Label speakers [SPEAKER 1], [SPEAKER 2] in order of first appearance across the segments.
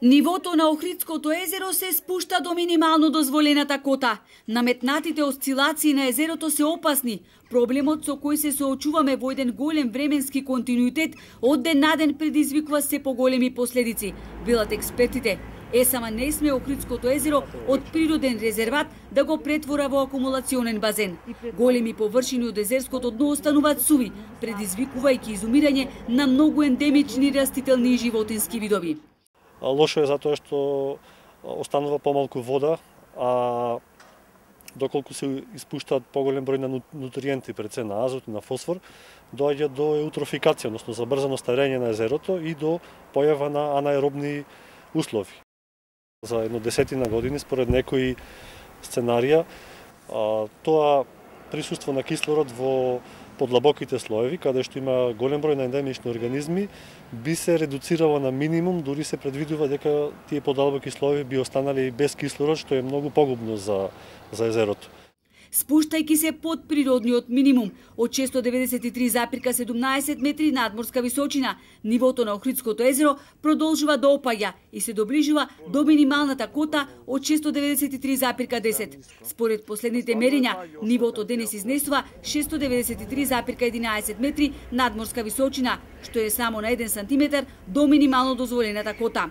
[SPEAKER 1] Нивото на Охридското езеро се спушта до минимално дозволената кота. Наметнатите осцилации на езерото се опасни. Проблемот со кој се соочуваме во еден голем временски континуитет од ден на ден предизвикува се поголеми последици, велат експертите. ЕСАМА не сме Охридското езеро од природен резерват да го претвора во акумулационен базен. Големи површини од езерското дно остануваат суви, предизвикувајќи изумирање на многу ендемични растителни и животински видови.
[SPEAKER 2] Лошо е затоа што останува помалку вода, а доколку се испуштаат поголем број на нутриенти, пред се на азот и на фосфор, доаѓа до еутрофикација, односно забрзано старење на езерото и до појава на анаеробни услови. За едно десетина години, според некои сценарија, тоа присуство на кислород во подлабоките слоеви, каде што има голем број на ендемични организми, би се редуцирало на минимум, дури се предвидува дека тие подлабоки слоеви би останали без кислород, што е многу погубно за езерото.
[SPEAKER 1] Спуштајќи се под природниот минимум од 693,17 метри надморска височина, нивото на Охридското езеро продолжува да опаѓа и се доближува до минималната кота од 693,10. Според последните мерења, нивото денес изнесува 693,11 метри надморска височина, што е само на 1 сантиметар до минимално дозволената кота.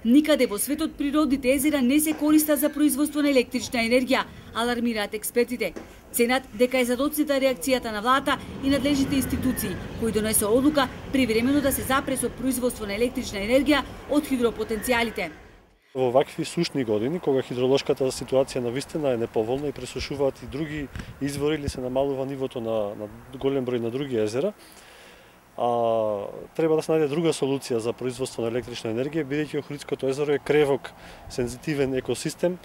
[SPEAKER 1] Никаде во светот природните езера не се користат за производство на електрична енергија, алармираат експертите. Ценат дека е задоцнита реакцијата на владата и надлежните институции, кои донесоа одлука привремено да се запре со производство на електрична енергија од хидропотенцијалите.
[SPEAKER 2] Во вакви сушни години, кога хидроложката ситуација навистина е неповолна и пресушуваат и други извори или се намалува нивото на голем број на други езера, треба да се најде друга солуција за производство на електрична енергија, бидејќи Охридското езеро е кревок, сензитивен екосистем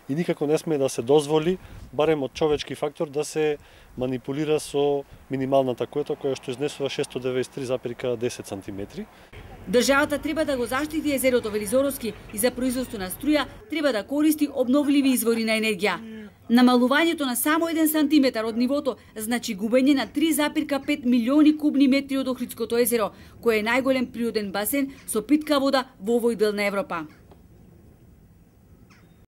[SPEAKER 2] и никако не сме да се дозволи, барем од човечки фактор, да се манипулира со минималната кота, која што изнесува 693,10 сантиметри.
[SPEAKER 1] Државата треба да го заштити езерото, вели Зоровски, и за производство на струја треба да користи обновливи извори на енергија. Намалувањето на само 1 сантиметар од нивото значи губење на 3,5 милиони кубни метри од Охридското езеро, кој е најголем природен басен со питка вода во овој дел на Европа.